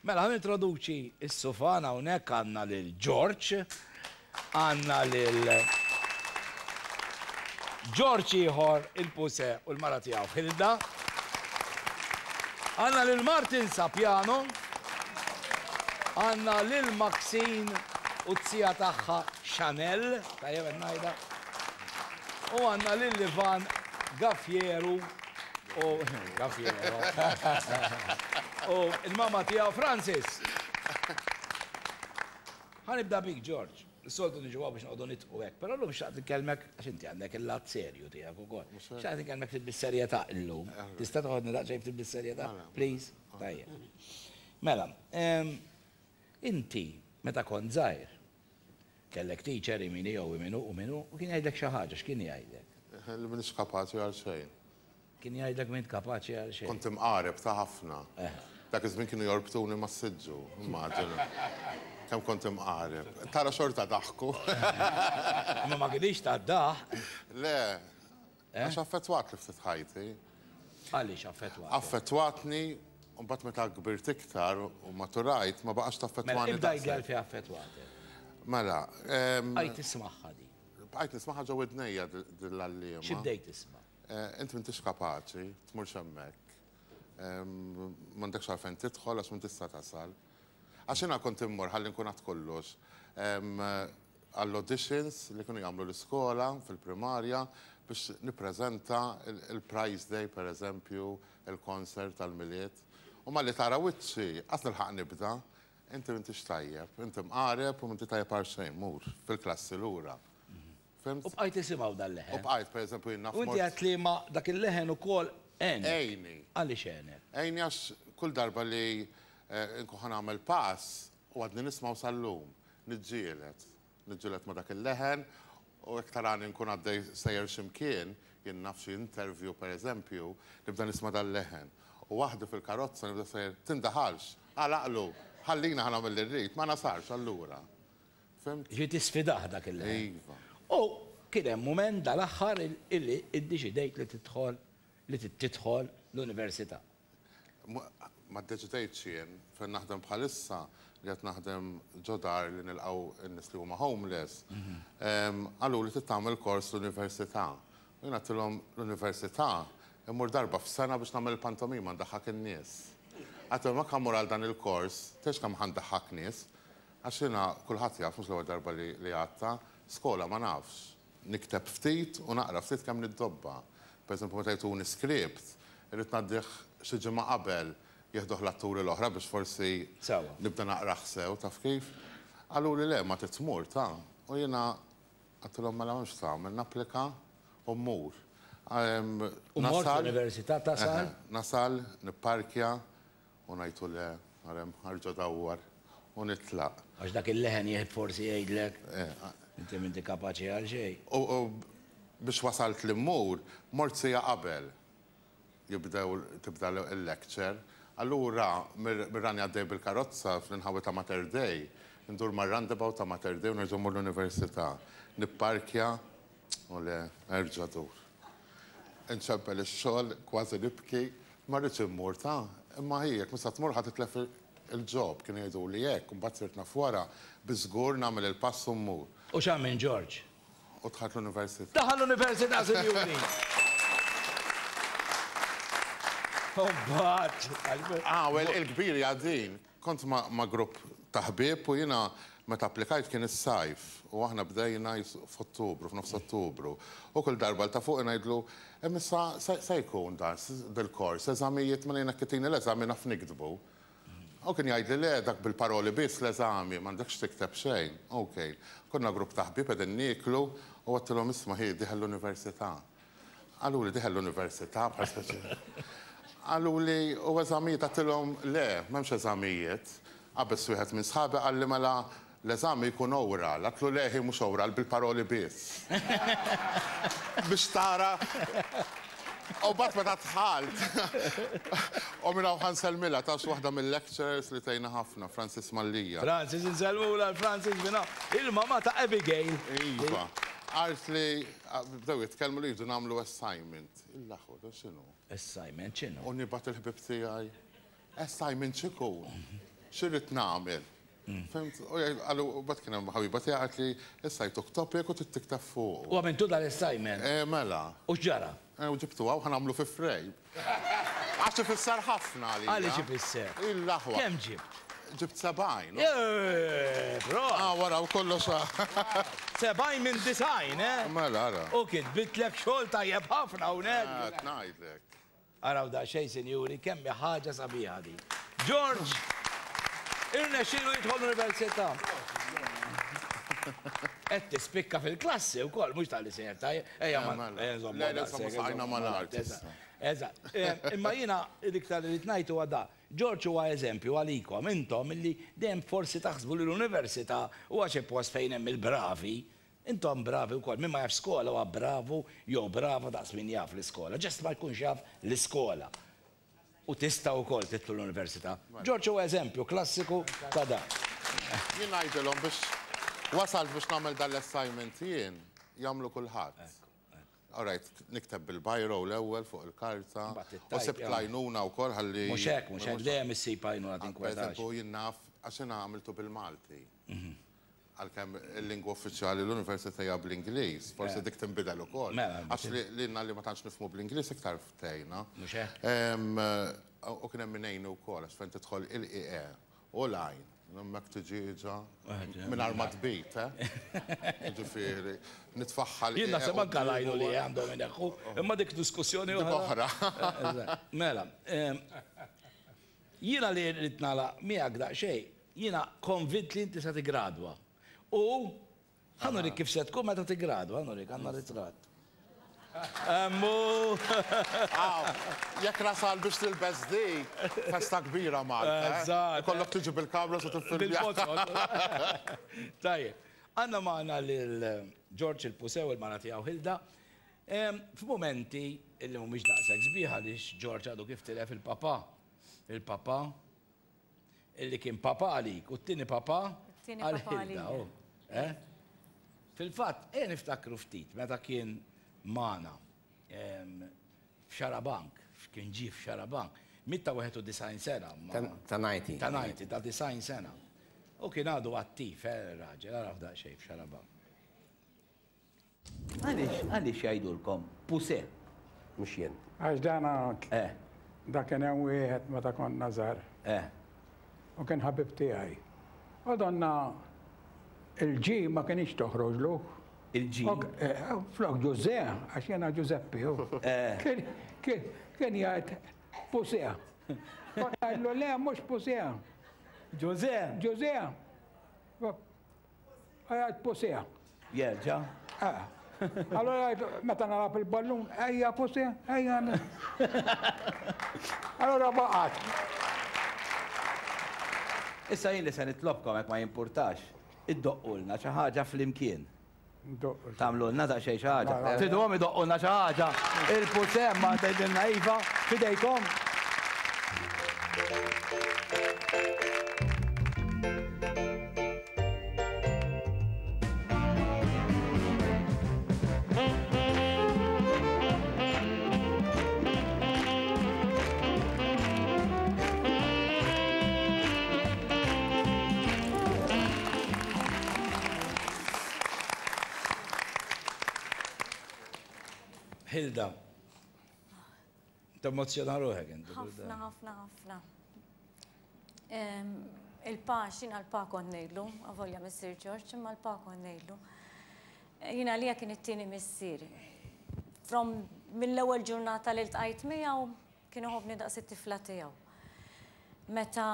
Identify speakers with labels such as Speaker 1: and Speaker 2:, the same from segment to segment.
Speaker 1: Mela, ħa nintroduċi s-sufan hawnhekk għandna lil George, għandna lil George ieħor il-Puse u l-mara tiegħu Hilda. Għandna lil Martin Sapiano, għandna lil Maxine u t-sija tagħha Chanel, tajjeb qed ngħidha. U għandna lil Ivan Gafieru u Gafiero. U il-mama tiegħu Francis. Ħa nibda bik George. Is-soltu niġu hawn biex noqogħdu nidħku hekk, però llum xtaqt inkellmek għax inti għandek il-lat serju tiegħek ukoll. Xtaqt inkellmek ftit bis-serjetà illum. Tista' toħodni daqsxejn ftit bis-serjetà? Please? Tajjeb. Mela, inti meta kont żgħir, Kellek teacher imini jew iminu u minu u kien jgħidlek xi ħaġa, x'kien jgħidlek?
Speaker 2: Li m'iniex kapaċi għal xejn.
Speaker 1: Kien jgħidlek m'int kapaċi għal xejn.
Speaker 2: Kont imqareb ta' ħafna. Dak iż-żmien kienu jorbtuni mas-siġġu, immaġina. Kemm kont imqareb. Tara xorta daħku.
Speaker 1: Imma ma kinitx tad-daħq.
Speaker 2: Le. Għax affettwatli ftit ħajti.
Speaker 1: Għaliex affettwatek?
Speaker 2: Affettwatni, u mbagħad meta kbirt iktar u maturajt ma baqax taffettwani.
Speaker 1: Mela ibda għidli għalfejn affettwatek.
Speaker 2: Mela.
Speaker 1: Bqajt tismagħha din.
Speaker 2: Bqajt nismagħha ġo widnejja din l-għalliema.
Speaker 1: Xi bdejt tisma'?
Speaker 2: Int m'intix kapaċi, tmurx hemmhekk. M'għandekx għalfejn tidħol għax m'intix se tasal. Għax jiena kont immur ħalli nkun għadt kollox għall-auditions li kienu jagħmlu l-iskola fil-primarja biex nippreżenta il-prize day pereżempju, il-concert tal-Milied. U malli tara wiċċi, qas nilħaq nibda, inti m'intix tajjeb, inti mqareb u m'inti tajjeb għal xejn, mur fil-klassi lura.
Speaker 1: Fhimt? U bqajt tisimgħu dal-leħen.
Speaker 2: U bqajt, pereżempju, jien naf.
Speaker 1: U inti għedt li ma dak il-leħen ukoll għenek.
Speaker 2: Għejni.
Speaker 1: Għaliex għenek?
Speaker 2: Għejni għax kull darba li nkun ħa nagħmel pass u għadni nismgħu sal-lum, niġġieled. Niġġieled ma' dak il-leħen u jekk tarani nkun għaddej sejjer xi mkien, jien naf xi interview pereżempju, nibda nisma' dal-leħen. U waħdi fil-karozza nibda sejjer, tindaħalx, agħlaqlu, ħallina ħa nagħmel li rrid, ma nasarx allura.
Speaker 1: Fhimt? Ġifieri tisfidah dak il-leħen. Iva. U kien hemm mument dal-aħħar illi iddeċidejt li tidħol li tidħol l-università.
Speaker 2: Ma ddeċidejtx jien, fejn naħdem bħalissa, li qed naħdem ġo dar li nilqgħu n-nies li huma homeless, qaluli trid tagħmel kors l-università. U jien għedtilhom l-università immur darba f'sena biex nagħmel il-pantomima ndaħħak in-nies. Għedtilhom jekk ħa mmur għal dan il-kors, tgħidx kemm ħa ndaħħak nies. Għax jiena kulħadd jaf, mhux l-ewwel darba li li għadtha, skola ma nafx. Nikteb ftit u naqra ftit kemm niddobba. Per eżempju meta jtuni script, irrid ngħaddih xi ġimgħa qabel jieħduh l-atturi l-oħra biex forsi nibda naqrah sew, taf kif? Qaluli le, ma trid tmur, ta. U jiena għedtilhom mela m'hemmx x'tagħmel, napplika u mmur.
Speaker 1: U mort l-università tasal?
Speaker 2: Nasal, nipparkja, U ngħidtu le, ara hemm ħarġa dawwar u nitlaq.
Speaker 1: Għax dak il-leħen jieħed forsi jgħidlek, inti m'inti kapaċi għal xejn.
Speaker 2: U biex wasalt li mmur, mort siegħa qabel jibdew tibda l-lecture. Allura mir-rani għaddej bil-karozza fl-inħawi ta' Mater Dei, indur mar-roundabout ta' Mater Dei u nerġa' mmur l-università. Nipparkja u le, erġa' dur. Inċempel ix-xogħol, kważi nibki, ma rridx immur ta, imma hi jekk mhux se tmur ħa titlef il-job, kienu jgħiduli hekk, imbagħad sirt naf wara, biss żgur nagħmel il-pass u mmur.
Speaker 1: U x'għamel George?
Speaker 2: U dħalt l-università.
Speaker 1: Daħal l-università, sinjuri! U mbagħad.
Speaker 2: Ah, well, il-kbir hija din. Kont ma' grupp ta' ħbieb u jiena meta applikajt kien is-sajf u aħna bdejna f'Ottubru, f'nofs Ottubru. U kull darba 'l ta' fuqi ngħidlu, Imma issa se jkun dan dil-kors, eżamijiet, mela jiena jekk itini l-eżami naf niktbu. U kien jgħidli le dak bil-paroli biss l-eżami, m'għandekx tikteb xejn. Ok. Konna grupp ta' ħbieb qegħdin nieklu u għedtilhom isma' ħi dieħel l-università. Qaluli dieħel l-università bħal speċi. Qaluli u eżamijiet għedtilhom le, m'hemmx eżamijiet. Qabeż wieħed minn sħabi qalli mela l-eżami jkun oral. Għedtlu le ħi mhux oral bil-paroli biss. Biex tara. U mbagħad meta dħalt u minn hawn ħa nsellmilha tafx waħda mill-lecturers li tgħinna ħafna, Francis Mallia.
Speaker 1: Francis insellmulha l-Francis minn hawn. Il-mamà ta' Abigail.
Speaker 2: Iva. Qaltli Bdew jitkellmu li jridu nagħmlu assignment. Il-aħwa, dan x'inhu?
Speaker 1: Assignment x'inhu?
Speaker 2: U nibgħat il-ħbieb tiegħi. Assignment x'ikun? X'irrid nagħmel? Fhimt? U jgħid, qalu, u mbagħad kien hemm ħabiba tiegħi qalt li issa jtuk topic u trid tikteb fuqu.
Speaker 1: U għamiltu dal-assignment?
Speaker 2: Eh, mela.
Speaker 1: U x'ġara?
Speaker 2: Eh, u ġibtu hawn ħa nagħmlu fi frame. Għax ifisser ħafna għalija.
Speaker 1: Għaliex ifisser?
Speaker 2: Il-aħwa.
Speaker 1: Kemm ġibt?
Speaker 2: Ġibt 70.
Speaker 1: Eh, prosit!
Speaker 2: Ah, wara u kollox.
Speaker 1: 70 minn 90, eh?
Speaker 2: Mela, ara.
Speaker 1: U kitbitlek xogħol tajjeb ħafna hawnhekk.
Speaker 2: Eh, qed ngħidlek.
Speaker 1: Araw daqsxejn sinjuri kemm hi ħaġa sabiħa din. George irnexxielu jidħol l-università. Qed tispikka fil-klassi wkoll mhux talli sejjer tajjeb. Ejja ma
Speaker 2: Le, le, insomma mal-art.
Speaker 1: Eżatt. Imma jiena l-iktar li rrid ngħid huwa da. George huwa eżempju għalikom intom illi dejjem forsi taħsbu li l-università huwa xi post fejn hemm il-bravi Intom bravi wkoll. Min ma jafx skola huwa bravu jew brava daqs min jaf l-iskola. Just ma jkunx jaf l-iskola. U tistgħu wkoll tidħlu l-università. George huwa eżempju klassiku ta' dan.
Speaker 2: Jien ngħidilhom biex wasalt biex nagħmel dan l-assignment jien, jagħmlu kulħadd. All right, nikteb bil-biro l-ewwel fuq il-karta. U sibt l-għajnuna wkoll ħalli.
Speaker 1: Mhux hekk, mhux hekk, dejjem issib għajnuna tinkwetax.
Speaker 2: Pereżempju jien naf għax jiena għamiltu bil-Malti. Għalkemm il-lingwa uffiċjali l-università hija bl-Ingliż, forsi dik tinbidel ukoll. Għax lilna li ma tantx nifhmu bl-Ingliż iktar tgħinna.
Speaker 1: Mhux hekk?
Speaker 2: U kien hemm min għinni wkoll għax fejn tidħol il-IE u l-għajn, hemmhekk tiġieġa mingħajr ma tbid, eh? Jiġifieri, nitfaħħal.
Speaker 1: Jien naħseb anke l-għajn u l-IE għandhom ineħħu, imma dik diskussjoni
Speaker 2: oħra.
Speaker 1: Mela, jiena li rrid nagħlaq miegħek daqsxejn, Jiena konvint li inti se tiggradwa. U ħa nurik kif se tkun meta tiggradwa, ħa nurik, għandna ritratt. Hemm hu!
Speaker 2: Aw, jekk nasal biex tilbes dik, festa kbira Malta. Eh?
Speaker 1: Eżatt.
Speaker 2: Ikollok tiġi bil-kamra se tiffilmja.
Speaker 1: Tajjeb. Għandna magħna lil George il-Pusew il-mara tiegħu Hilda. F'mumenti li mhumiex daqshekk sbieħ għaliex George għadu kif tilef il-papà. Il-papà Illi kien papa għalik u t-tieni papa għal Hilda. Eh? Fil-fatt, ejja niftakru ftit meta kien magħna f'Xarabank, kien ġie f'Xarabank, miet ta' 91 sena.
Speaker 3: Ta' 90.
Speaker 1: Ta' 90, ta' 90 sena. U kien għadu attiv, eh, raġel, araw daqsxejn f'Xarabank. Għaliex, għaliex jgħidulkom Puse?
Speaker 3: Mhux jien.
Speaker 4: Għax dana
Speaker 1: Eh.
Speaker 4: da kien hemm wieħed meta konna żgħar.
Speaker 1: Eh.
Speaker 4: U kien ħabib tiegħi. U donna il-G ma kinitx toħroġlu.
Speaker 1: Il-G?
Speaker 4: Eh, flok Ġużè, għax jiena Ġużeppi.
Speaker 1: Eh.
Speaker 4: Kien, kien, kien jgħid Puse. Kont ngħidlu le mhux Puse.
Speaker 1: Ġużè?
Speaker 4: Ġużè. Għajat posea.
Speaker 1: Jerġa'.
Speaker 4: Ah. Allora meta nalab il-ballun, ejja posea, ejja. Allora baqgħet.
Speaker 1: Issa jien li se nitlobkom hekk ma jimpurtax, iddoqqulna xi ħaġa flimkien. Tagħmlulna daqsxejn xi ħaġa. Triduhom idoqqulna xi ħaġa. Il-pusem ma tgħidilna iva, f'idejkom. Hilda, temmozzjona ruħek inti.
Speaker 5: Ħafna, ħafna, ħafna. Il-pa, xina l-pa kont ngħidlu, avolja missier George, imma l-pa kont ngħidlu. Jiena għalija kien it-tieni missier. From mill-ewwel ġurnata li ltqajt miegħu kien iħobbni daqs it-tifla tiegħu. Meta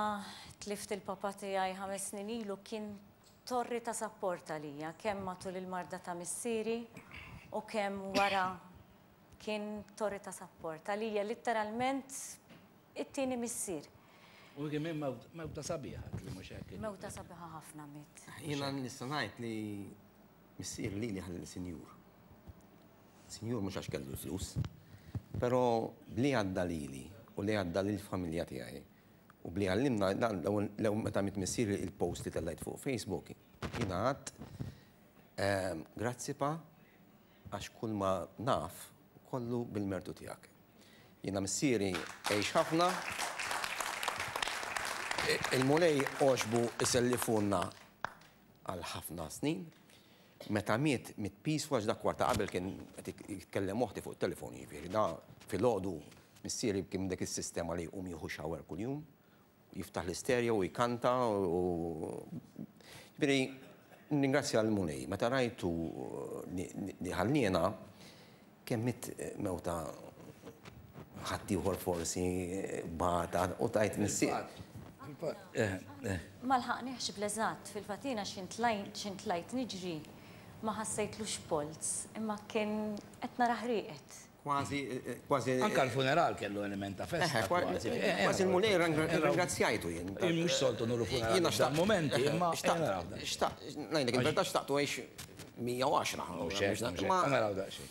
Speaker 5: tlift il-papa tiegħi ħames snin ilu kien torri ta' sapport għalija, kemm matul il-marda ta' missieri u kemm wara kien torri ta' sapport għalija, litteralment it-tieni missier.
Speaker 1: U kien mewta sabiħa, li mhux hekk.
Speaker 5: Mewta sabiħa ħafna miet.
Speaker 3: Jiena nista' ngħid li missieri lili ħallili sinjur. Sinjur mhux għax kellu l-flus, però b'li għadda lili u li għadda lill-familja tiegħi U bli għallimna, l-ewwel meta miet missieri il-post li tellajt fuq Facebook, jiena għadt ehm, grazzi pa għax kull ma naf kollu bil-mertu tiegħek. Jiena missieri għix ħafna. Il-Mulej għoġbu isellifulna għal ħafna snin. Meta miet, miet peaceful għax dak kwarta qabel kien qed jitkellem oħti fuq it-telefon jiġifieri. Da filgħodu missieri kien dik is-sistema li jqum jieħu shower kuljum, jiftaħ l-istereo u jkanta u jiġifieri nirringrazzja l-Mulej. Meta rajtu li ħalliena kemm miet mewta ħaddieħor forsi bata u tajt missier.
Speaker 5: Ma lħaqnihx bl-eżatt, fil-fatt jiena x'ħin tlajt niġri ma ħassejtlux polz, imma kien qed narah rieqed.
Speaker 3: Kważi, kważi.
Speaker 1: Anke l-funeral kellu element ta' festa.
Speaker 3: Kważi l-Mulej ringrazzjajtu jien.
Speaker 1: Mhux soltu nuru funeral f'dan momenti, imma
Speaker 3: xtaqt, ngħidlek il-verità xtaqtu għix 110.
Speaker 1: Mhux hekk, mhux hekk. Naraw daqsxejn.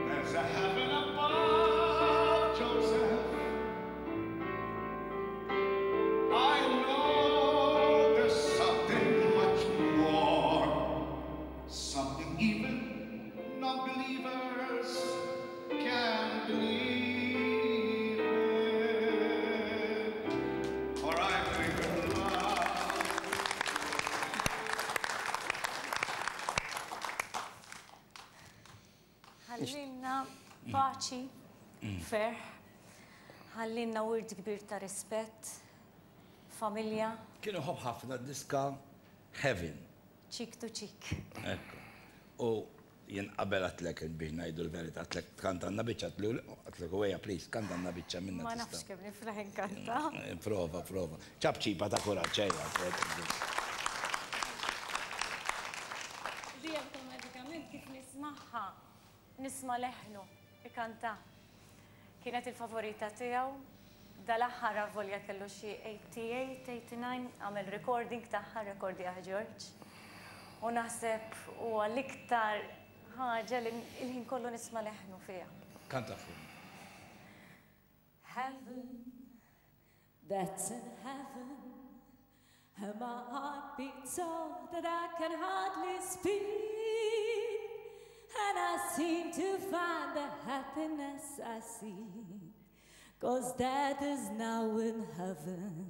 Speaker 6: There's a heaven above, Joseph. I know there's something much more, something even non-believers can believe in. For I believe in love.
Speaker 5: Ħallinna paċi, ferħ, ħallinna wirt kbir ta' rispett, familja.
Speaker 1: Kien iħobb ħafna d-diska Heaven.
Speaker 5: Cheek to cheek.
Speaker 1: Ekku. U jien qabel għedtlek biex ngħidu l-verità għedtlek tkantanna biċċa għedtlek u ejja please kantanna biċċa minna.
Speaker 5: Ma nafx kemm niflaħ inkanta.
Speaker 1: Prova, prova. Ċapċipa ta' kuraġġ ejja.
Speaker 5: Di awtomatikament kif nismagħha nisma' leħnu ikanta. Kienet il-favorita tiegħu. Dal-aħħar avolja kellu xi 88, 89 għamel recording tagħha, rekordjaha George. U naħseb huwa l-iktar ħaġa li l-ħin kollu nisma' leħnu fiha.
Speaker 1: Kanta fuq.
Speaker 5: Heaven, that's in heaven, and my heart beats so that I can hardly speak, and I seem to find the happiness I seek, 'cause that is now in heaven,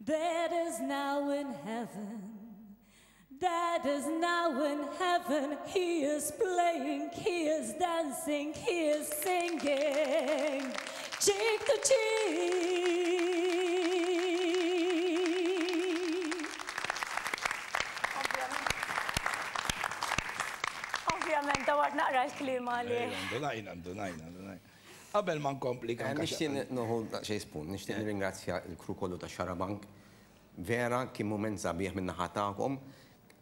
Speaker 5: that is now in heaven, that is now in heaven. He is playing, he is dancing, he is singing, cheek to cheek. Ovvjament, dawart naqra l-klima li.
Speaker 1: Ndunajna, ndunajna, ndunajna. Qabel ma nkompli
Speaker 3: kan. Nixtieq noħu daqsxejn spunt, nixtieq nirringrazzja l-crew kollu ta' Xarabank. Vera kien mument sabiħ min-naħa tagħkom.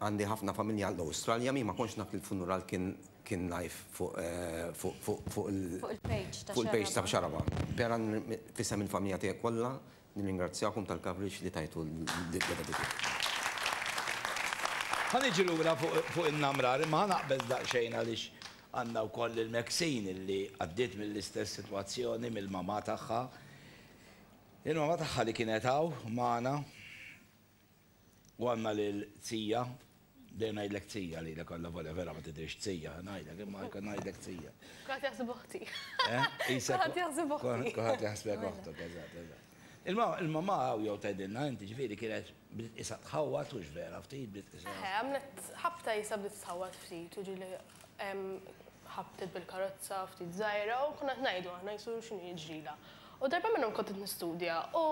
Speaker 3: Għandi ħafna familja l-Awstralja, mi ma kontx naf li l-funeral kien kien live fuq fuq fuq fuq
Speaker 5: il-page ta'
Speaker 3: fuq il-page ta' Xarabank. Vera f'isem il-familja tiegħi kollha nirringrazzjakom tal-coverage li tajtu l-event.
Speaker 1: Ħa niġi lura fuq in-namrar, imma ħa naqbeż daqsxejn għaliex Għandna wkoll lil Maxine li għaddiet mill-istess sitwazzjoni mill-mamà tagħha. Il-mamà tagħha li kienet hawn magħna u għandna lil Zija, dejjem ngħidlek Zija lilek alla volja vera ma tidhirx Zija, ngħidlek imma jkun ngħidlek Zija.
Speaker 7: Kulħadd jaħseb oħti. Kulħadd jaħseb oħti.
Speaker 1: Kulħadd jaħsbek oħtok, eżatt, eżatt. Il-mamà jew tgħidilna inti ġifieri kienet bdiet qisha tħawwad hux vera ftit bdiet qisha.
Speaker 7: Eħe, għamlet ħabta qisha bdiet tħawwad ftit u ġieli ħabtet bil-karozza ftit żgħira u konna qed ngħidu aħna qisu x'inhu jiġrilha. U darba minnhom kont qed nistudja u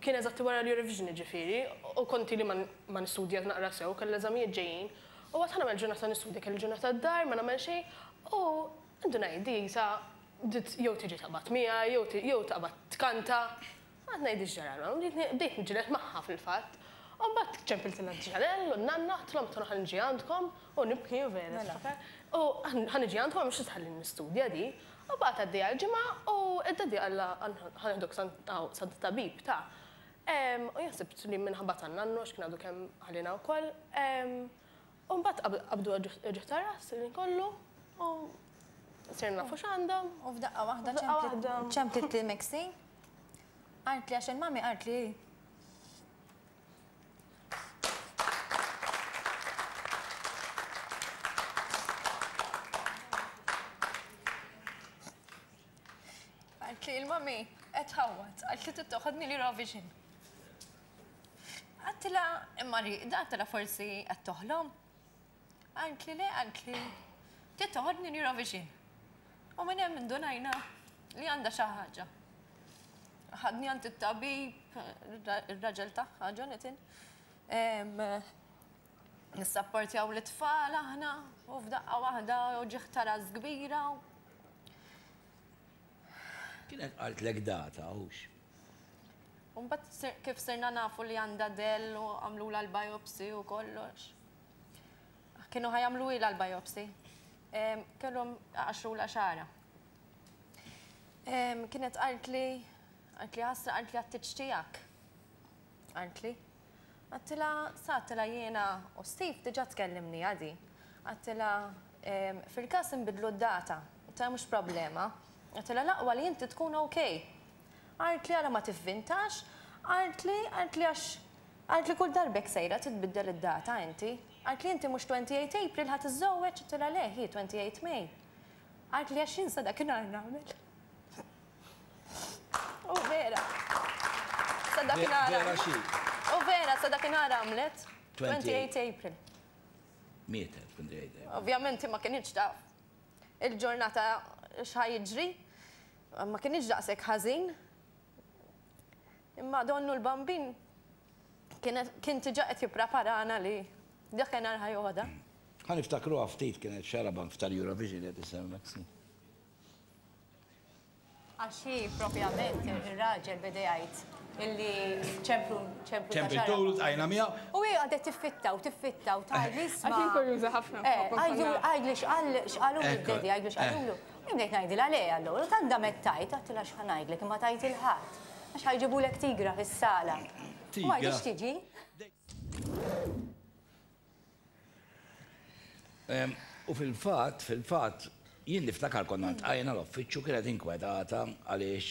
Speaker 7: kien eżatt wara l-Eurovision jiġifieri u kont ili ma nistudja naqra sew, kelli l-eżamijiet ġejjin u għedt ħa nagħmel ġurnata nistudja, kelli ġurnata d-dar ma nagħmel xejn u ndunajt di qisha bdiet jew tiġi taqbad miegħi jew taqbad tkanta. Qgħadt ngħid x'ġaralha, bdejt niġġieled magħha fil-fatt. U mbagħad ċempiltilha Chanelle u n-nanna, għedtilhom tonn ħa niġi għandkom u nibki u vera niftakar. U ħa niġi għandkom għax mhux se tħallini nistudja di. U baqgħet għaddejja l-ġimgħa u d-daddy qallha ħa nieħduk sant it-tabib ta. U jien ħsibt li minħabba tan-nannu għax kien għadu kemm ħalliena wkoll. U mbagħad qabdu uġigħ ta' ras il-ħin kollu u sirna nafu x'għandhom.
Speaker 8: U f'daqqa waħda ċemplit lil Maxine. Qaltli għax il-mami qaltli Qaltli il-mami qed tħawwad, qaltli trid toħodni l-Eurovision. Għedtilha, imma rieqda, għedtilha forsi qed toħlom. Qaltli le, qaltli trid toħodni l-Eurovision. U minn hemm indunajna li għandha xi ħaġa. Ħadni għand it-tabib, ir-raġel tagħha, Jonathan. Nissapportjaw l-itfal aħna u f'daqqa waħda uġigħ ta' ras kbira.
Speaker 1: Kienet qaltlek data, hux?
Speaker 8: U mbagħad kif sirna nafu li għandha dell u għamlulha l-biopsy u kollox. Kienu ħa jagħmluhilha l-biopsy. Kellhom iqaxxrulha xagħarha. Kienet qaltli, qaltli ħasra, qaltli għat-tieġ tiegħek. Qaltli. Għedtilha, sa għedtilha jiena u Steve diġà tkellimniha di. Għedtilha fil-każ inbiddlu d-data. Għedtilha mhux problema. Għedtilha l-aqwa li inti tkun ok. Qaltli ara ma tivvintax, qaltli, qaltli għax, qaltli kull darba hekk sejra titbiddel id-data inti. Qaltli inti mhux 28 April ħa tiżżewweġ? Għedtilha le hi 28 May. Qaltli għax jien sa dakinhar nagħmel. U vera. Sa dakinhar.
Speaker 1: Vera xi?
Speaker 8: U vera sa dakinhar għamlet 28 April.
Speaker 1: Mietet 28 April.
Speaker 8: Ovvjament hi ma kinitx taf il-ġurnata x'ħa jiġri. Ma kinitx daqshekk ħażin. Imma donnu l-Bambin kien diġà qed jippreparana li dakinhar ħa joħodha.
Speaker 1: Ħa niftakruha ftit kienet Xarabank f'tal-Eurovision li qed issemmi Maxine.
Speaker 5: Għax hi propjament ir-raġel beda jgħid illi ċemplu ċemplu ta'
Speaker 1: Ċempiltulu ltqajna miegħu.
Speaker 5: U hi qagħdet tiffitta u tiffitta u tgħidli isma'.
Speaker 7: Għax jien kurjuża ħafna.
Speaker 5: Għidlu għidli x'qal x'qalulu d-daddy għidlu x'qalulu. Jien bdejt ngħidilha le allura u tant damet tgħid għedtilha x'ħa ngħidlek imma tgħid 'il ħadd. Għax ħa jġibulek tigra fis-sala. U ma rridx tiġi.
Speaker 1: U fil-fatt, fil-fatt, jien niftakar konna ltqajna l-uffiċċju kienet inkwetata għaliex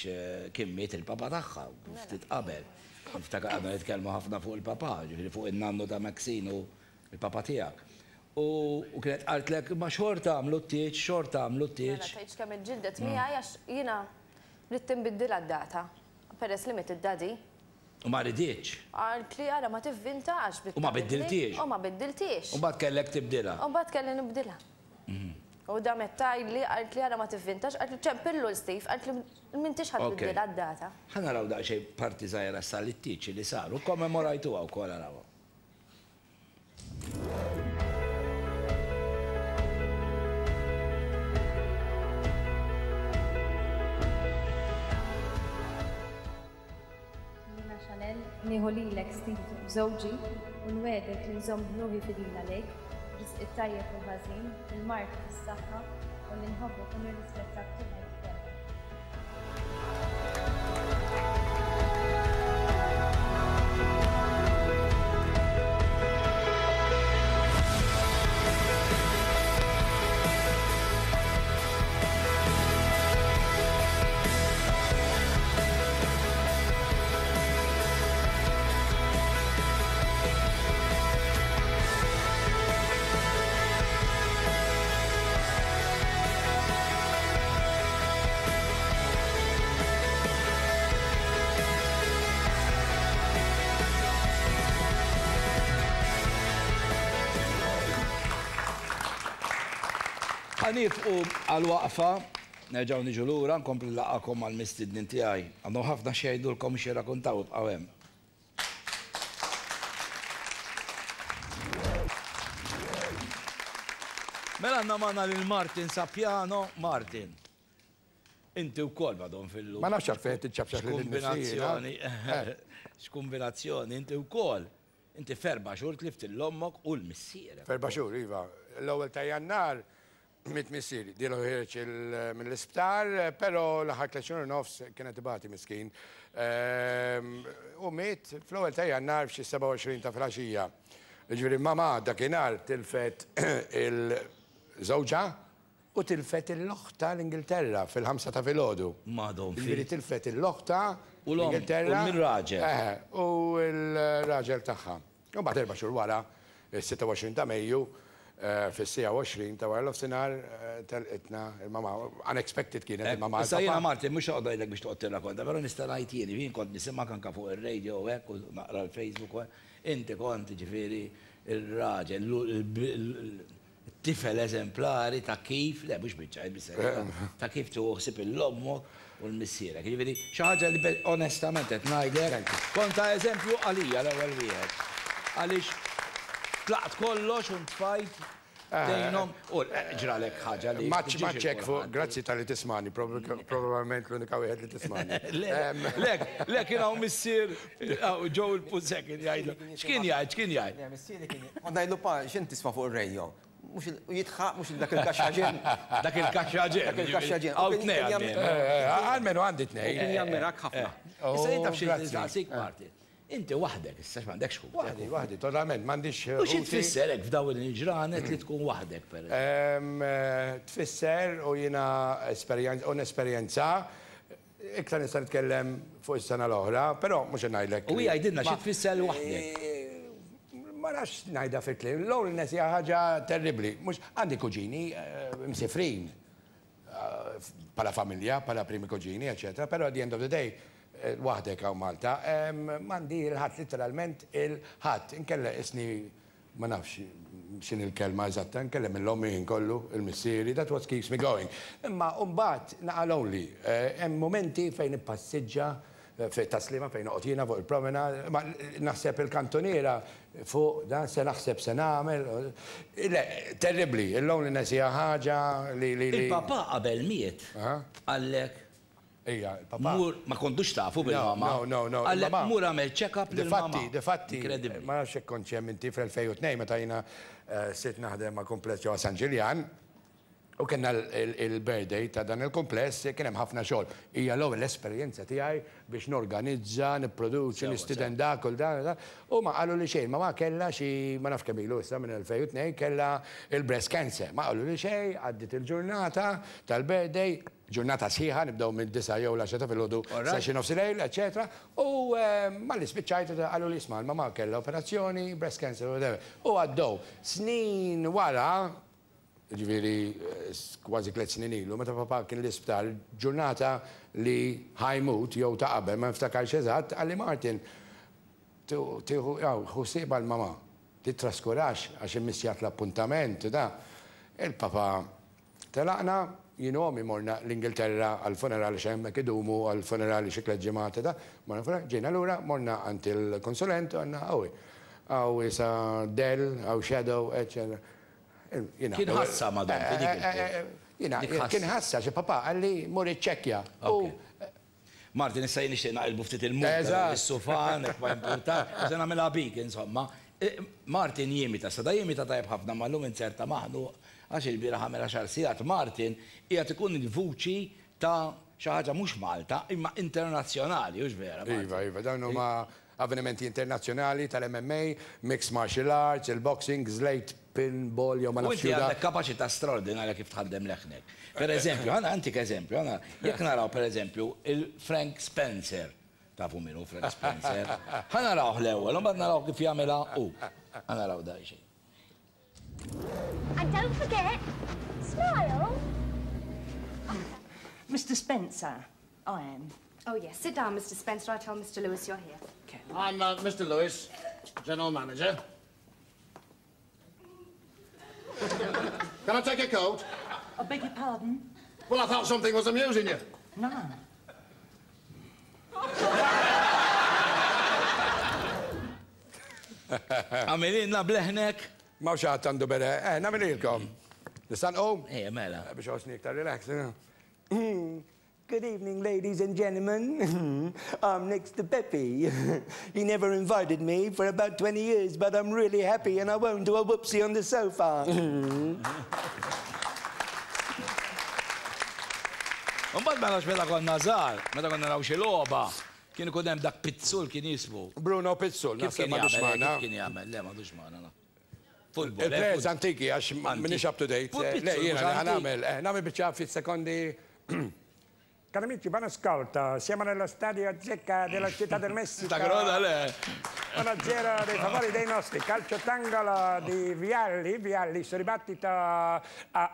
Speaker 1: kien miet il-papa tagħha ftit qabel. Niftakar għadna nitkellmu ħafna fuq il-papa, ġifieri fuq in-nannu ta' Maxine u l-papa tiegħek. U kienet qaltlek imma xorta għamlu t-tieġ, xorta għamlu t-tieġ.
Speaker 8: Mela tgħidx kemm iġġildet miegħi għax jiena ridt inbiddilha d-data peress li miet id-daddy.
Speaker 1: U ma riditx.
Speaker 8: Qaltli ara ma tivvintax
Speaker 1: U ma biddiltiex.
Speaker 8: U ma biddiltiex.
Speaker 1: U mbagħad kellek tibdilha.
Speaker 8: U mbagħad kelli nibdilha. U damet tgħidli, qaltli ara ma tivvintax, qaltli ċempillu 'l Steve, qaltli m'intix ħa tbiddilha d-data.
Speaker 1: Ħa naraw daqsxejn parti żgħira issa lit-tieġ li sar u kkommemorajtuha wkoll arawha.
Speaker 9: Jiena Chanelle, nieħu lilek Steve żewġi u nwiegħdek li nżomm ruħi fidila lejk, b'risq it-tajjeb u l-ħażin, fil-mard u fis-saħħa, u li nħobbok u nirrispettak tul ħajti kollha.
Speaker 1: Ħa niefqu għal waqfa, nerġgħu niġu lura, nkompli nlaqgħakom mal-mistednin tiegħi. Għandhom ħafna x'jgħidulkom u x'jirrakuntaw, ibqgħu hemm. Mela għandna magħna lil Martin Sapiano. Martin, inti wkoll madhom fil-lum.
Speaker 10: Ma nafx għalfejn qed tiċċapċap lil
Speaker 1: X'kumbinazzjoni, x'kumbinazzjoni, inti wkoll. Inti f'erba' xhur tlift 'il ommok u 'l missierek.
Speaker 10: F'erba' xhur, iva. L-ewwel ta' Jannar miet missieri. Dielu ħiereġ mill-isptar, però l-aħħar tliet xhur u nofs kien qed ibati miskin. U miet fl-ewwel ta' Jannar f'xi 27 ta' filgħaxija. Jiġifieri mamà dakinhar tilfet il żewġha U tilfet il-oħtha l-Ingilterra fil-ħamsa ta' filgħodu.
Speaker 1: Madon fi.
Speaker 10: Jiġifieri tilfet il-oħtha l-Ingilterra.
Speaker 1: U l-raġel.
Speaker 10: Eħe, u l-raġel tagħha. U mbagħad erba' xhur wara, is-26 ta' Mejju, fis-siegħa u 20 ta' wara nofsinhar, telqitna il-mamà. Unexpected kienet il-mamà.
Speaker 1: Issa jiena Martin mhux noqgħod ngħidlek biex toqgħod tirrakonta, però nista' ngħid jien, jien kont nisimgħek anke fuq ir-radio u hekk u naqra l-Facebook u hekk, inti kont jiġifieri r-raġel, Tifel eżemplari ta' kif, le mhux biċ-ċajt bis-serjetà, ta' kif tieħu ħsieb 'il ommok u 'l missierek. Jiġifieri xi ħaġa li onestament qed ngħidlek, kont ta' eżempju għalija l-ewwel wieħed. Għaliex tlaqt kollox u ntfajt tgħinhom u ġralek ħaġa li.
Speaker 10: Maċ hekk fuq, grazzi talli tismagħni, probabbilment l-unika wieħed li tismagħni.
Speaker 1: Le, le kien hawn missier Joe il-Puzzè kien jgħidlu. X'kien jgħid, x'kien jgħid?
Speaker 3: Le, missieri kien, kont ngħidlu pa, x'int tisma' fuq ir-radio? Mhux il, u jidħaq mhux dak il-kaxxaġen.
Speaker 1: Dak il-kaxxaġen.
Speaker 3: Dak il-kaxxaġen.
Speaker 1: Hawn tnejn għalmenu.
Speaker 10: Almenu għandi tnejn.
Speaker 3: U kien jammirak ħafna.
Speaker 1: Issa jien taf xi nistaqsik, Martin. Inti waħdek issa m'għandekx ħutek.
Speaker 10: Waħdi, waħdi, totalment, m'għandix
Speaker 1: ħuti. U xi tfisser hekk f'dawn il-ġranet li tkun waħdek pereżempju?
Speaker 10: Tfisser u jiena u nesperjenza Iktar nista' nitkellem fuq is-sena l-oħra, però mhux se ngħidlek.
Speaker 1: U hija għidilna xi tfisser li waħdek.
Speaker 10: Ma nafx ngħidha fi kliem. Loneliness hija ħaġa terribbli. Mhux għandi kuġini msifrin bħala familja, bħala primi kuġini, eċċetera, però at the end of the day waħdek hawn Malta. M'għandi 'l ħadd, litteralment 'il ħadd. Inkella qisni ma nafx x'inhi l-kelma eżatta, nkellem lil ommi ħin kollu, il-missieri, that what keeps me going. Imma mbagħad naqa' lonely. Hemm mumenti fejn nippassiġġa fit-taslima fejn noqgħod jiena fuq il-promenade, imma naħseb il-kantuniera fuq dan se naħseb se nagħmel. Le, terribbli, il-loneliness hija ħaġa li li.
Speaker 1: Il-papà qabel miet qallek
Speaker 10: Ija, il-papà.
Speaker 1: Mur, ma kontux tafu bil-mama.
Speaker 10: No, no, no.
Speaker 1: Għallek mur għamel check-up lil-mama.
Speaker 10: Difatti, difatti. Incredibbli. Ma nafx jekk kontx hemm inti fl-2002 meta jiena sirt naħdem ma' kumpless ġewwa San Ġiljan u kellna l-birthday ta' dan il-kumpless, kien hemm ħafna xogħol. Hija l-ewwel esperjenza tiegħi biex norganizza, nipproduċi, nistieden dak u dan. U ma qaluli xejn. Mama kellha xi, ma nafx kemm ilu issa minn 2002, kellha il-breast cancer. Ma qaluli xejn, għaddiet il-ġurnata tal-birthday, Ġurnata sħiħa, nibdew mid-disgħa jew l-għaxra ta' filgħodu sa xi nofs il-lejl, eċċetera. U malli spiċċajt qaluli isma' l-mamà kellha operazzjoni, breast cancer, whatever. U għaddew snin wara, jiġifieri kważi tliet snin ilu, meta papà kien l-isptar, ġurnata li ħa jmut jew ta' qabel, ma niftakarx eżatt, qalli Martin, tieħu, ħu ħsiebha l-mamà, tittraskurax għax immissjat l-appuntament u da. Il-papà Telaqna, jien u ommi morna l-Ingilterra għall-funeral għax hemmhekk idumu għall-funerali xi tliet ġimgħat u da. Morna l-funeral, ġejna lura, morna għand il-konsulent u għedna hawn hi. Hawn isa dell, hawn shadow, eċċetera. Jiena.
Speaker 1: Kien ħassha ma' Dom fi dik il-punt.
Speaker 10: Jiena, kien ħassha għax il-papà qalli mur iċċekkja. U
Speaker 1: Martin, issa jien nixtieq naqilbu ftit il-mood ta' dan is-sufan, hekk ma jimpurtax, u se nagħmilha bik, insomma. Martin jimita, sa da jimita tajjeb ħafna, ma llum inzerta maħnuq għax ilbieraħ għamel għaxar sigħat. Martin qiegħed ikun il-vuċi ta' xi ħaġa mhux Malta, imma internazzjonali, hux vera, Martin?
Speaker 10: Iva, iva, dawn huma avvenimenti internazzjonali tal-MMA, mixed martial arts, il-boxing, żlejt pinball jew ma
Speaker 1: U
Speaker 10: nafx
Speaker 1: inti
Speaker 10: x'hu dak.
Speaker 1: għandek kapaċità straordinarja kif tħaddem leħnek. Per eżempju, ħa nagħtik eżempju, ħa jekk naraw per eżempju il-Frank Spencer, tafu min hu Frank Spencer, ħa narawh l-ewwel u mbagħad naraw kif jagħmilha hu. Ħa naraw daqsxejn.
Speaker 11: And don't forget, smile.
Speaker 12: Mr Spencer, I am.
Speaker 9: Oh, yes. Sit down, Mr Spencer. I'll tell Mr Lewis you're here.
Speaker 12: Okay.
Speaker 6: I'm uh, Mr Lewis, General Manager. Can I take a coat?
Speaker 13: I beg your pardon?
Speaker 6: Well, I thought something was amusing you.
Speaker 13: No.
Speaker 1: Għamililna bleħnek.
Speaker 10: Ma xi ħadd għandu bere. Eh, nagħmililkom. Nista' nqum?
Speaker 1: Ejja, mela.
Speaker 10: Biex ħossni iktar relax.
Speaker 14: Good evening, ladies and gentlemen. I'm next to Pepe. He never invited me for about 20 years, but I'm really happy and I won't do a whoopsie on the sofa.
Speaker 1: Mbagħad mela meta konna żgħar, meta konna naraw xi logħba, kien ikun hemm dak Pizzul kien jismu.
Speaker 10: Bruno Pizzul,
Speaker 1: Kif
Speaker 10: naħseb
Speaker 1: kien
Speaker 10: m'għadux
Speaker 1: jagħmel?
Speaker 10: magħna.
Speaker 1: Kif kien jagħmel? Le m'għadux magħna. la. Football. eh,
Speaker 10: Il-players antiki għax minix up to date.
Speaker 1: Fu
Speaker 10: Le,
Speaker 1: Pizzul,
Speaker 10: jiena
Speaker 1: mhux
Speaker 10: li
Speaker 1: antik.
Speaker 10: ħanamel. Nagħmel biċċa ftit sekondi.
Speaker 4: Cari amici, buon ascolto. Siamo nello stadio Zecca della città del Messico.
Speaker 1: Ta' groda, le.
Speaker 4: 1-0 dei favori dei nostri. Calcio d'angolo di Vialli. Vialli sul ribattito a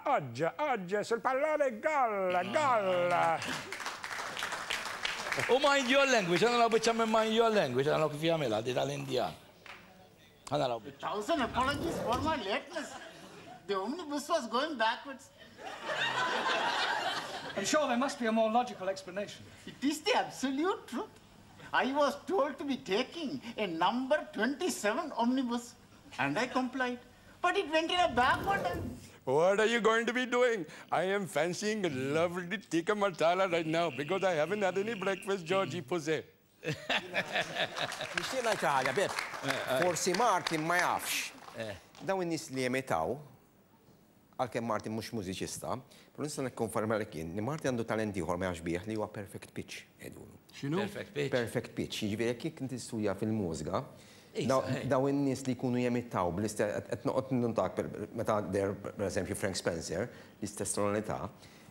Speaker 4: Oggia. Oggia sul pallone. Gol, gol.
Speaker 1: U mind your language, għana naraw biċċa minn mind your language, għana naraw kif jagħmilha di tal-Indjan. Għana naraw biċċa.
Speaker 15: Thousand apologies for my lateness. The omnibus was going backwards.
Speaker 16: I'm sure there must be a more logical explanation.
Speaker 15: It is the absolute truth. I was told to be taking a number 27 omnibus, and I complied. But it went in a backward and
Speaker 10: What are you going to be doing? I am fancying a lovely tikka masala right now because I haven't had any breakfast, Georgie Pussy.
Speaker 3: Nixtieq ngħid xi ħaġa, Beb. Forsi Martin ma jafx. Dawn in-nies li jemitaw, għalkemm Martin mhux mużiċista, però nista' nikkonferma li kien li Martin għandu talent ieħor ma jafx bih li huwa perfect pitch jgħidulu.
Speaker 10: X'inhu?
Speaker 1: Perfect pitch.
Speaker 3: Perfect pitch, jiġifieri jekk jekk inti tistudja fil-mużika,
Speaker 1: Isa,
Speaker 3: daw-
Speaker 1: ej.
Speaker 3: daw in-nies li jkunu jemitaw bl-istess qed noqgħod nuntak meta der pereżempju Frank Spencer, l-istess tonalità,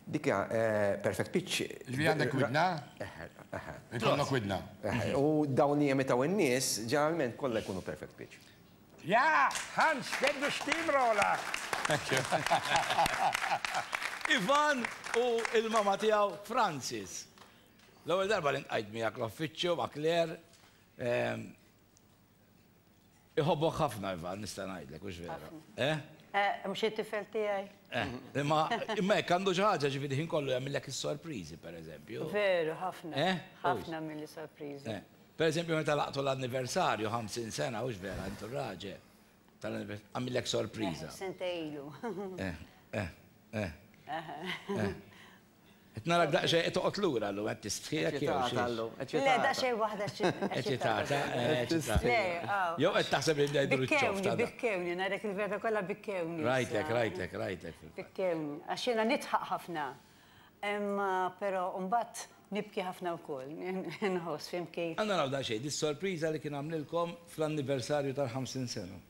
Speaker 3: dik hija eh, perfect pitch.
Speaker 10: Ġifieri għandek widna?
Speaker 3: Eħe, eħe.
Speaker 10: Ikollok widna.
Speaker 3: Eħe, U dawn li jemitaw in-nies ġeneralment kollha jkunu perfect pitch.
Speaker 4: Ja, Hans, get the steamroller.
Speaker 1: Ivan u il-mama tiegħu Francis. L-ewwel darba li nqajt miegħek l-uffiċċju ma' Claire. ehm, Iħobbok ħafna Ivan, nista' ngħidlek, hux vera. Eh?
Speaker 13: Mhux it-tifel tiegħi.
Speaker 1: Eh, Imma imma hekk għandu xi ħaġa ġifieri ħin kollu jagħmillek is-sorpriżi pereżempju.
Speaker 13: Veru, ħafna.
Speaker 1: Eh?
Speaker 13: Ħafna mill sorpriżi.
Speaker 1: Eh, Per eżempju, meta laqtu l-anniversarju 50 sena, hux vera, intu raġel. Tal-anniversarju, għamillek sorpriża.
Speaker 13: Sentejlu.
Speaker 1: Eh, eh, eh. eh. Qed narak daqsxejn qed toqgħod lura llum qed tistħiek jew xi.
Speaker 13: Le, daqsxejn waħda xi.
Speaker 1: Eċitata, eh, eċitata.
Speaker 13: Le, aw.
Speaker 1: Jew qed taħseb li ngħidu
Speaker 13: Bikkewni,
Speaker 1: ċ-ċof ta'
Speaker 13: bikkewni, narek il-vera kollha bikkewni.
Speaker 1: Rajtek,
Speaker 13: issa.
Speaker 1: rajtek, rajtek.
Speaker 13: Bikkewni, għax jiena nidħaq ħafna. Imma però mbagħad nibki ħafna wkoll, nħoss fim kif.
Speaker 1: Għanna naraw daqsxejn, dis-sorpriża li kien għamlilkom fl-anniversarju tal-50 sena.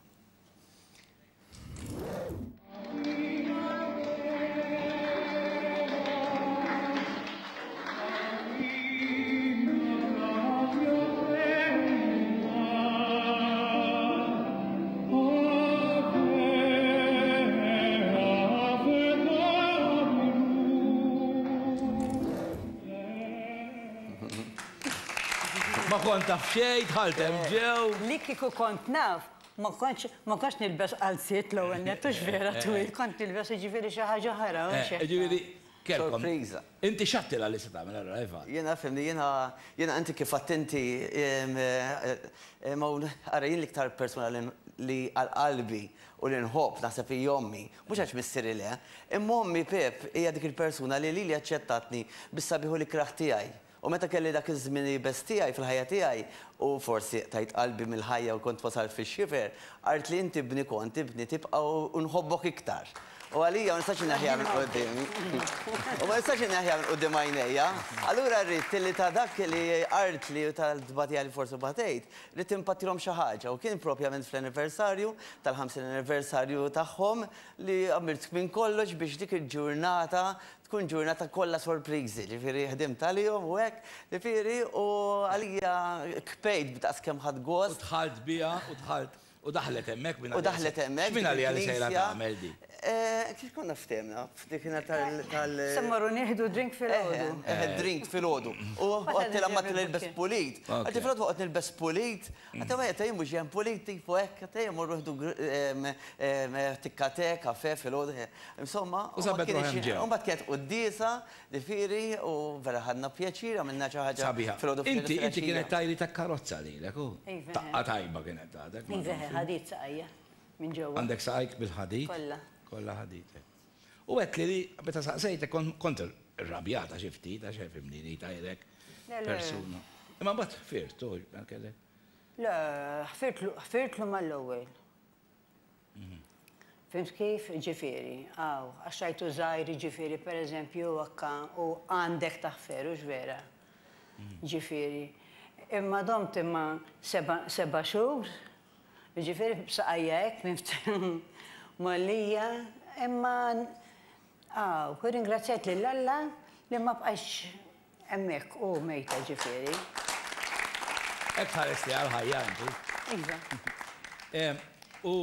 Speaker 1: Ma kont taf xejn, dħalt hemm ġew.
Speaker 13: Li kieku kont naf, ma kontx ma kontx nilbes qalziet l-ewwel nett hux vera twil, kont nilbes jiġifieri xi ħaġa oħra.
Speaker 1: Eh,
Speaker 13: hux hekk.
Speaker 1: Ġifieri, kelkom.
Speaker 17: Sorpriża.
Speaker 1: Inti x'għedtilha li se tagħmel allura, Ivan?
Speaker 17: Jiena fimni, jiena jiena inti kif attenti ma ara jien l-iktar persuna li li għal qalbi u li nħobb naħseb hi ommi, mhux għax missieri le, imma ommi Pep hija dik il-persuna li lili aċċettatni bis-sabiħ u l-ikrah tiegħi. U meta kelli dak iż-żmien iebes tiegħi fil-ħajja tiegħi u forsi qtajt qalbi mill-ħajja u kont wasalt fix-xifer, qaltli inti ibni kont, ibni tibqa' u nħobbok iktar. U għalija ma nistax inneħħiha minn quddiemi. U ma nistax inneħħiha minn quddiem għajnejja. Allura rrid li ta' dak li qaltli u tal-tbatija li forsi batejt, ridt inpattilhom xi ħaġa u kien propjament fl-anniversarju tal-50 anniversarju tagħhom li għamilt minn kollox biex dik il-ġurnata tkun ġurnata kollha sorpriżi, ġifieri ħdimt għalihom u hekk, ġifieri u għalija kpejt b'daqs kemm ħadt gost.
Speaker 1: U dħalt biha u dħalt. U daħlet hemmhekk minn
Speaker 17: U daħlet hemmhekk.
Speaker 1: X'min għaliha li sejra
Speaker 17: fil-knisja.
Speaker 1: tagħmel di?
Speaker 17: Kif konna ftehmna f'dik tal.
Speaker 13: Se mmorru nieħdu drink filgħodu.
Speaker 17: Eħe, drink filgħodu. U għedtilha ma nilbes pulit. Għedti filgħodu waqt nilbes pulit. Għedtilha ma jgħid mhux hemm pulit tipo hekk, għedtilha morru nieħdu tikka te, kafe filgħodu. Insomma,
Speaker 1: U sabet ruħha hemm ġew.
Speaker 17: U mbagħad kienet quddiesa, ġifieri, u vera ħadna pjaċir, għamilna xi ħaġa
Speaker 1: Sabiħa.
Speaker 17: filgħodu
Speaker 1: Inti inti kienet tajri ta' karozza lilek, u?
Speaker 13: Iva.
Speaker 1: Taqqa tajba kienet għadek. ma
Speaker 13: Iva,
Speaker 1: nafx.
Speaker 13: ħadid saqajja minn ġewwa.
Speaker 1: Għandek saqajk bil-ħadid?
Speaker 13: Kollha.
Speaker 1: Kollha ħadid. U għedt li li meta saqsejtek kont irrabjata xi ftit għax fimni li tajrek
Speaker 13: Le, le.
Speaker 1: persuna. Imma mbagħad ħfirt, u kellek.
Speaker 13: Le, ħfirtlu ħfirtlu mal-ewwel. Fhimt kif? Ġifieri, aw, għax rajtu żgħir ġifieri pereżempju hekka u għandek taħfer, hux vera? Ġifieri. Imma domt imma seba' xhur, ġifieri b'saqajja hekk mgħollija, imma aw, irringrazzjajt lil Alla li ma bqajtx hemmhekk u mejta ġifieri.
Speaker 1: Hekk tħares li għall-ħajja inti.
Speaker 13: Iva.
Speaker 1: U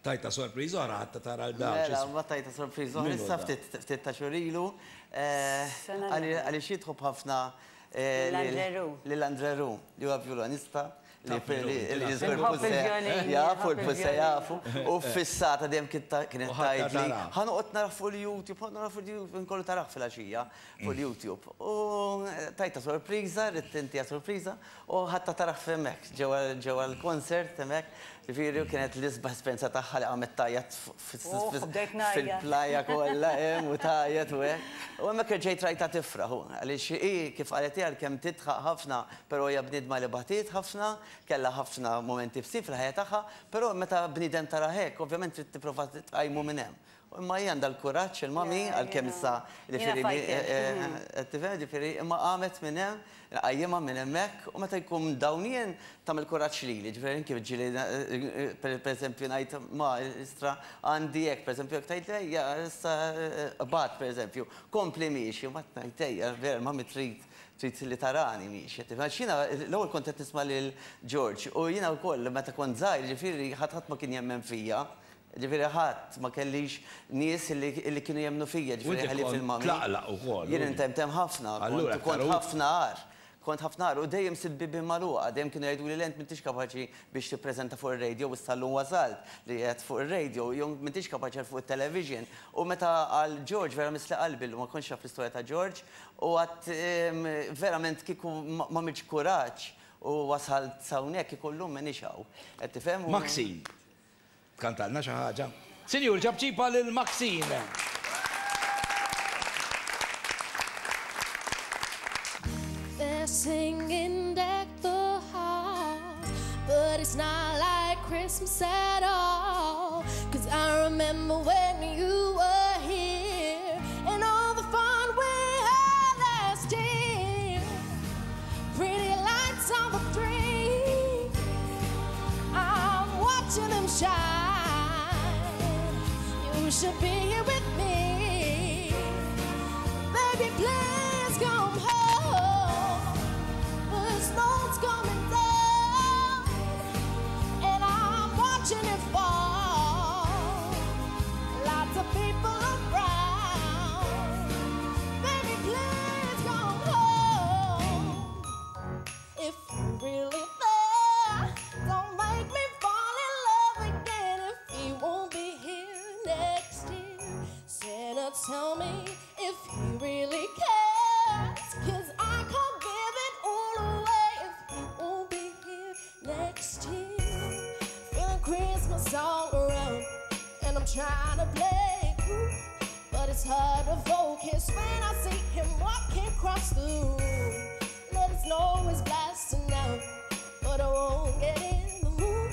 Speaker 1: tajta sorpriża oħra ħadd tara l dawn.
Speaker 17: Mela, ma tajta sorpriża oħra issa ftit ta' xhur ilu. Għaliex jitħobb ħafna lil Andre Roux li huwa vjolonista li żgur jafu, l-Puse jafu. U fissata dejjem kienet tgħidli, ħa noqgħod narah fuq il-YouTube, ħa narah fuq il-YouTube, nkollu tarah filgħaxija fuq il-YouTube. U tajtha sorpriża, ridt intiha sorpriża, u ħadtha tarah f'hemmhekk, ġewwa l-concert hemmhekk. Ġifieri u kienet l-isbaħ esperjenza tagħha li qamet tgħajjat fil-plaja kollha hemm u tgħajjat u hekk. U hemmhekk erġajt rajtha tifraħ u għaliex hi kif qalet hi għalkemm tidħaq ħafna però hija bniedma li batiet ħafna, kellha ħafna mumenti ibsin fil-ħajja tagħha, però meta bniedem tarah hekk ovvjament trid tipprova tqajmu minn hemm. Imma hi għandha l-kuraġġ il-mummy għalkemm issa ġifieri qed tifhem ġifieri imma qamet minn hemm, nqajjimha minn hemmhekk u meta jkun dawn jien tagħmel kuraġġ lili, ġifieri anke ġieli pereżempju ngħid ma istra għandi hekk pereżempju jekk tgħidli ejja issa qbad pereżempju, kompli miexi u mbagħad ngħid ejja vera mummy trid trid li tarani miexi qed tifhem għax jiena l-ewwel kont qed nisma' lil George u jiena wkoll meta kont żgħir ġifieri ħadd ħadd ma kien jemmen fija. Ġifieri ħadd, ma kellix nies li kienu jemmnu fija, ġifieri ħlief il-mummy.
Speaker 1: U inti kont tlaqlaq ukoll.
Speaker 17: Jien intemtem ħafna, kont ħafna agħar. Kont ħafna agħar u dejjem sibt bibien magħluqa, dejjem kienu jgħiduli le int m'intix kapaċi biex tippreżenta fuq ir-radio u issa llum wasalt li qiegħed fuq ir-radio, jew m'intix kapaċi għal fuq it-television. U meta qal George vera missli qalbi llum, ma kontx naf l-istorja ta' George u għedt verament kieku m'għamiltx kuraġġ u wasalt s'hawnhekk kieku llum m'iniex hawn. Qed tifhem?
Speaker 1: Maxine. Tkantalna xi ħaġa? Sinjur, ċapċipa lil Maxine!
Speaker 18: They're singing deck the halls, but it's not like Christmas at all. Cause I remember when you were here and all the fun we had last year. Pretty lights on the tree, I'm watching them shine. You should be here with me. Baby, please come home. The snow's coming down, and I'm watching it fall. Lots of people around. Baby, please come home. If you really there, don't make me fall in love again if he won't be here next year. Santa, tell me if he really cares, 'cause I can't give it all away if he won't be here next year. Feeling Christmas all around, and I'm trying to play cool, but it's hard to focus when I see him walking across the room. Let it snow is blasting out, but I won't get in the mood.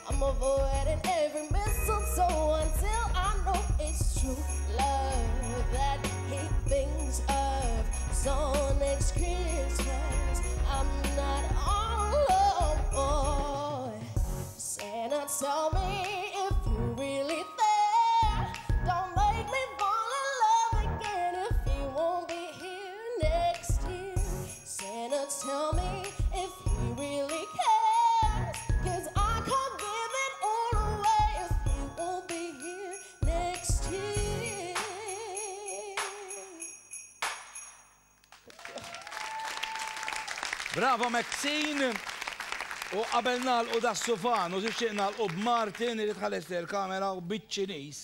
Speaker 18: I'm avoiding every mistletoe until I know it's true love that he thinks of. So next Christmas, I'm not all alone. Santa, tell me if you really there. Don't make me fall in love again if he won't be here next year. Santa, tell me if he really cares, 'cause I can't
Speaker 1: Bravo Maxine! U qabel nagħlqu das-sufan u tixtieq nagħlqu b'Martin li tħares lejn il-kamera u biċ-Ċiniż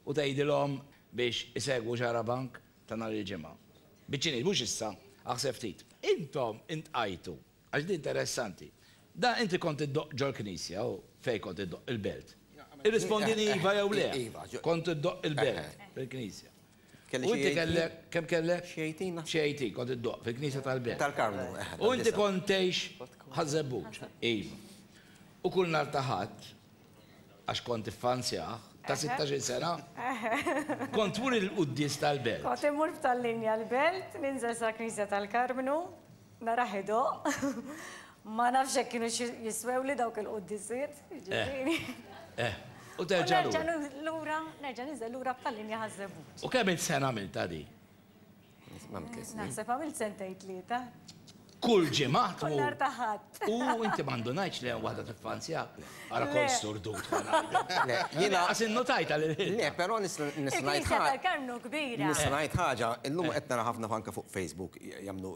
Speaker 1: u tgħidilhom biex isegwu Xarabank ta' nhar il-Ġimgħa. Biċ-Ċiniż, mhux issa, aħseb ftit. Intom intqajtu, għax din interessanti. Da inti kont iddoqq ġol-knisja u fejn kont iddoqq il-belt? Irrispondini iva jew le. Kont iddoqq il-belt, fil-knisja.
Speaker 3: Kelli
Speaker 1: U
Speaker 3: xi
Speaker 1: inti
Speaker 3: 18.
Speaker 1: kellek, kemm kellek?
Speaker 3: Xi 18 naħseb.
Speaker 1: Xi 18 kont iddoqq fil-knisja tal-belt.
Speaker 3: Tal-Karmnu, eħe.
Speaker 1: U inti kont tgħix Ħaż-Żebbuġ. Iva. U kull nhar ta' Ħadd, għax kont iffanzjah, ta' 16-il sena, kont tmur il-quddies tal-belt.
Speaker 5: Kont immur f'tal-linja l-belt, ninżel sal-knisja tal-Karmnu, narah idoqq. Ma nafx jekk kinux jiswewli dawk il-quddisiet, jiġifieri.
Speaker 1: Eh, u terġa' lura.
Speaker 5: U nerġa' lura, nerġa' ninżel lura b'tal-linja Ħaż-Żebbuġ.
Speaker 1: U kemm-il sena għamiltha di?
Speaker 5: Naħseb għamilt sentejn tlieta.
Speaker 1: Kull ġimgħa tmur?
Speaker 5: Kull nhar ta' Ħadd.
Speaker 1: U inti ma ndunajtx li hemm waħda tiffanzjak? Ara kont sturdut ħa ngħidlek.
Speaker 3: Le, jiena.
Speaker 1: Lanqas innutajtha lil ħilta.
Speaker 3: Le, però nista' ngħid ħaġa.
Speaker 5: Il-Knisja tal-Karmnu kbira.
Speaker 3: Nista' ngħid ħaġa, illum qed nara ħafna anke fuq Facebook jagħmlu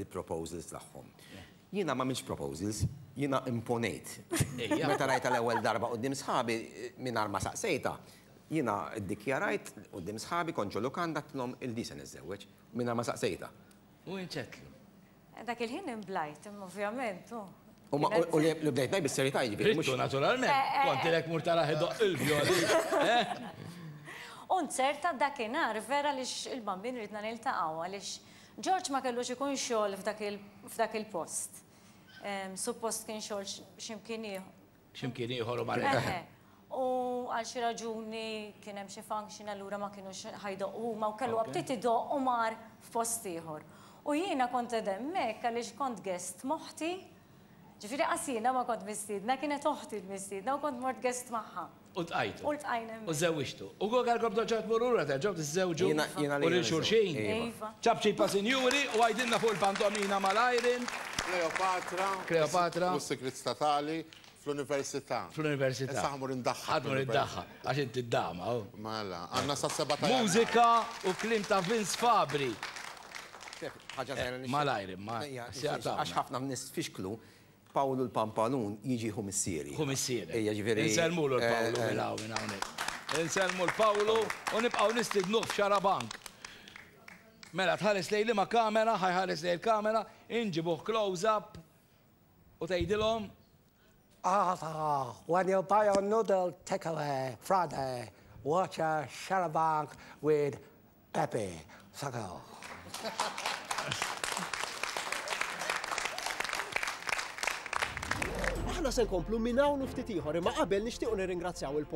Speaker 3: il-proposals tagħhom. Jiena m'għamiltx proposals, jiena imponejt. Meta rajtha l-ewwel darba quddiem sħabi, mingħajr ma saqsejtha, jiena ddikjarajt quddiem sħabi, kont ġo lukanda, għedtilhom il-di se niżżewweġ, mingħajr ma saqsejtha.
Speaker 1: U int x'għedtlu?
Speaker 5: Dak il-ħin imblajt, imma ovvjament, hu.
Speaker 3: U li bdejt ngħid bis-serjetà jiġifieri.
Speaker 1: Ridtu naturalment, kont ilek mur tarah idoqq il-vjolin.
Speaker 5: U nzerta dakinhar vera għaliex il-Bambin ridna niltaqgħu għaliex George ma kellux ikun xogħol f'dak il-post. Suppost kien xogħol x'imkien ieħor.
Speaker 1: X'imkien ieħor u mar hemm.
Speaker 5: U għal xi raġuni kien hemm xi function allura ma kinux ħa jdoqqu huma u kellu aptit idoqq u mar f'post ieħor. U jiena kont qed hemmhekk għaliex kont guest m'oħti, ġifieri qas jiena ma kont mistiedna, kienet oħti l-mistiedna u kont mort guest magħha.
Speaker 1: U ltqajtu.
Speaker 5: U ltqajna hemmhekk.
Speaker 1: U żżewwiġtu. U kieku kellkom terġgħu tmorru lura terġgħu tiżżewġu
Speaker 3: Jiena jiena
Speaker 1: u lil xulxin?
Speaker 5: Iva.
Speaker 1: Ċapċipa sinjuri u għidilna fuq il-pantomina mal-Irene.
Speaker 2: Kleopatra.
Speaker 1: Kleopatra.
Speaker 2: U s-Sigriet Statali fl-Università.
Speaker 1: Fl-Università.
Speaker 2: Issa ħa mmur indaħħal.
Speaker 1: Ħa tmur iddaħħal, għax inti d-dama.
Speaker 2: Mela, għandna sas-sebgħa ta' Jannar.
Speaker 1: Mużika u kliem ta' Vince Fabri.
Speaker 3: Ħaġa żgħira nixtieq.
Speaker 1: Malajr imma.
Speaker 3: Għax ħafna nies fixklu Pawlu l-Pampalun jiġi ħu missieri.
Speaker 1: Ħu missierek.
Speaker 3: Ejja, ġifieri.
Speaker 1: Insellmulu 'l Pawlu minn hawn minn hawnhekk. Insellmu 'l Pawlu u nibqgħu nistidnuh f'Xarabank. Mela tħares lejn liema kamera, ħa jħares lejn il-kamera, inġibuh close up u tgħidilhom.
Speaker 4: Arthur, when you buy your noodle takeaway Friday, watch a Xarabank with Peppi, Sacco.
Speaker 19: Aħna se nkomplu minn hawn u ftit ieħor imma qabel nixtiequ nirringrazzjaw il.